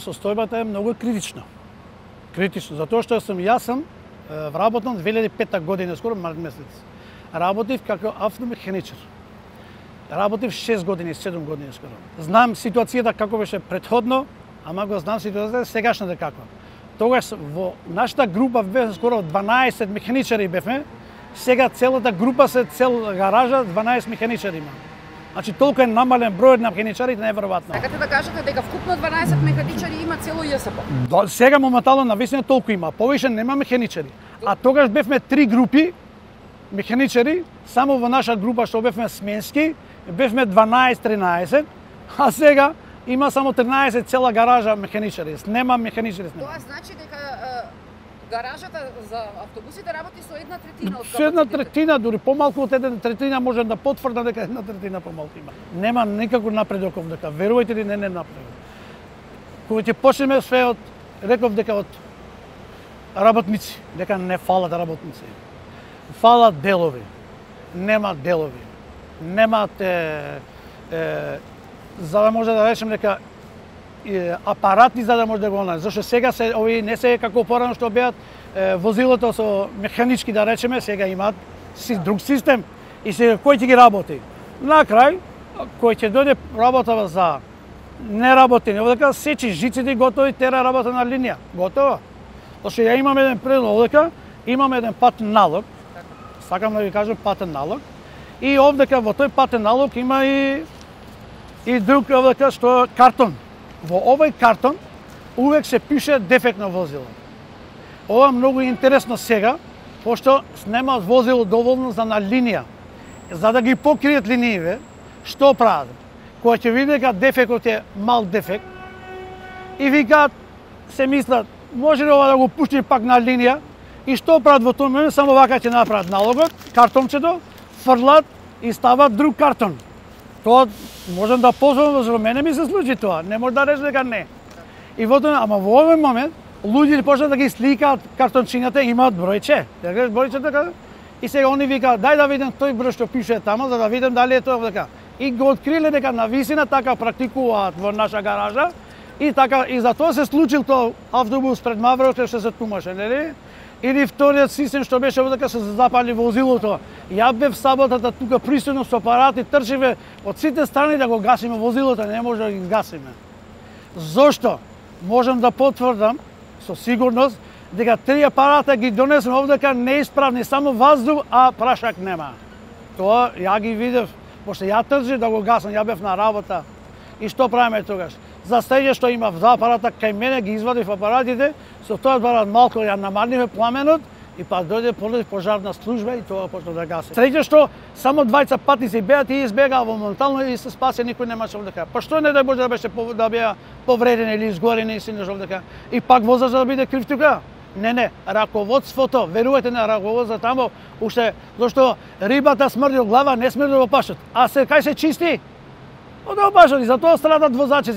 Состојбата е многу критична. Критично, затоа што јас сум вработен 2005 година, скоро март месец. Работив како автомеханичар. Работив 6 години, 7 години скоро. Знам ситуацијата како беше претходно, ама го знам ситуацијата сегашната каква. Тогаш во нашата група бевме скоро 12 механичари бевме. Сега целата група се цел гаража 12 механичари има. Значи толку е намален бројот на механичарите, неверојатно. Сакате да кажете дека вкупно 12 механичари има цело ЈСП? Сега моментално навистина толку има, повеќе нема механичари. А тогаш бевме 3 групи механичари, само во наша група што бевме сменски, бевме 12-13, а сега има само 13 цела гаража механичари. Нема механичари. Тоа значи дека гаражата за автобусите работи со 1/3 од капацитетот. Со 1/3, дури помалку од 1/3 можем да потврдам дека 1/3 помалку има. Нема никако напредок овдека, верувајте ли, не напредок. Кога ќе почнеме све од, реков дека од работници, дека не фалат работници. Фалат делови. Нема делови. Немат за да може да речем дека апарати за да може да го најде. Зашто сега се овие не се како порано што беат возилото со механички да речеме, сега имаат друг систем и сега кој ќе ги работи. На крај кој ќе дојде работа за неработење, овдека сечи жиците готови, тера работа на линија. Готово. Зашто ја имам еден предлог овдека, имам еден патен налог. Сакам да ви кажам патен налог. И овдека во тој патен налог има и друг овдека што картон. Во овој картон увек се пише дефектно возило. Ова многу интересно сега, пошто нема возило доволно за на линија. За да ги покријат линиите, што прават? Кога ќе види дека дефектот е мал дефект, и викаат, се мислат, може ли ова да го пушти пак на линија? И што прават во тој момент? Само вака ќе направат налогот, картончето, фрлат и стават друг картон. Тоа можам да позволам, за мене ми се случи тоа. Не може да рече дека не. И во тоа, ама во овој момент луѓе почнат да ги сликаат картончињата, имаат бројче. Дека бројче така. И сега они викаат, дај да видам тој број што пише таму, за да видам дали е тоа така. И го откриле дека навистина така практикуваат во наша гаража и така и затоа се случил тоа автобус пред Маврото што се тумаше, нели? Или вториот систем што беше дека се запали возилото. Ја бев саботата тука пристойно со апарати, трчеве од сите страни да го гасиме возилото, не може да ги гасиме. Зошто? Можам да потврдам со сигурност дека 3 апарата ги донесме овдека неисправни, само ваздух, а прашак нема. Тоа ја ги видев, пошто ја трчев да го гасам, ја бев на работа. И што правиме тогаш? За следење што има два апарата кај мене, ги извадив апаратите, со тоа апарат малку ја намалниве пламенот и па дојде пожарна служба и тоа почна да гаси. Следење што само двајца патници беат и избегаа моментално и се спасе, никој немаше овдека. Па што не дај Боже да беше да беа повредени или изгорени и синеш овдека. И пак возач да биде крив тука? Не, раководството, верувате на раководството тамо, уште зашто рибата смрди од глава, не смрди во пашот. А се кај се чисти? Од опашот и затоа страдат возачи.